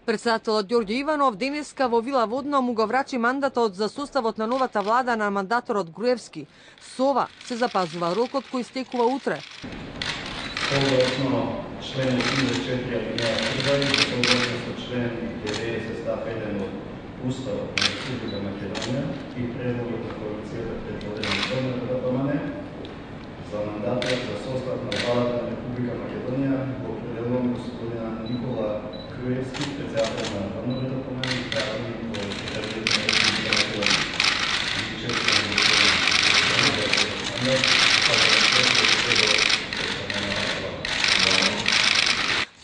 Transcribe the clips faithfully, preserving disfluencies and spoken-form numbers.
Председателот Ѓорѓе Иванов денеска во Вила Водно му го врачи мандатот за составот на новата влада на мандаторот Груевски. Со ова се запазува рокот кој стекува утре. Согласно член осумдесет и четири алинеја прва и согласно со член деветдесет став еден од Уставот на Република Македонија и предлогот на коалицијата предводена од ДПМН за мандатот за состав на владата на Република Македонија го определувам господина Никола Груевски, председател на ДПМН и пратеник во Секретаријата на Република Македонија.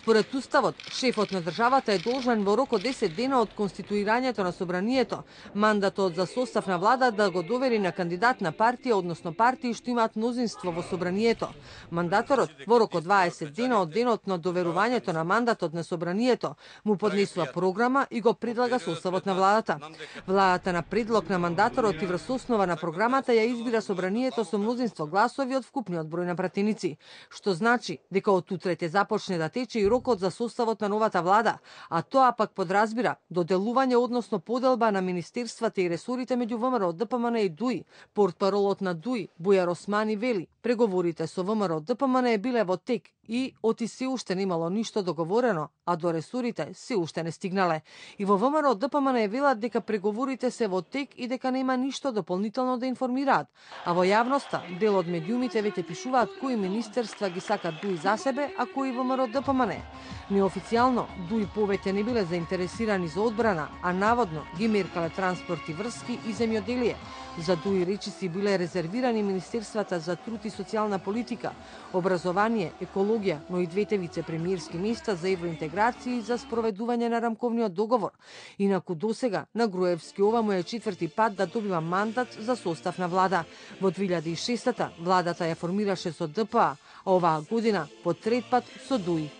Според Уставот, шефот на државата е должен во рок од десет дена од конституирањето на собранието мандатот за состав на влада да го довери на кандидат на партија, односно партии што имаат мнозинство во собранието. Мандаторот во рок од дваесет дена од денот на доверувањето на мандатот на собранието му поднесува програма и го предлага составот на владата. Владата на предлог на мандаторот и врз основа на програмата ја избира собранието со мнозинство гласови од вкупниот број на пратеници, што значи дека од утре ќе започне да тече и рокот за составот на новата влада, а тоа пак подразбира доделување, односно поделба на министерствата и ресорите меѓу ВМРО, ДПМН и ДУИ. Портпаролот на ДУИ, Бујар Османи, вели: преговорите со ВМРО, ДПМН биле во тек и оти се уште немало ништо договорено, а до ресорите се уште не стигнале. И во ВМРО, ДПМН велат дека преговорите се во тек и дека нема ништо дополнително да информираат, а во јавноста дел од медиумите веќе пишуваат кои министерства ги сакат ДУИ за себе, а кои ВМРО, ДПМН. Неофицијално, ДУИ повеќе не биле заинтересирани за одбрана, а наводно ги меркале транспорт и врски и земјоделие. За ДУИ речиси биле резервирани министерствата за труд и социјална политика, образование, екологија, но и двете вице-премиерски места за евроинтеграција и за спроведување на рамковниот договор. Инаку досега на Груевски ова му е четврти пат да добива мандат за состав на влада. Во две илјади и шеста владата ја формираше со ДПА, а оваа година по трет пат со ДУИ.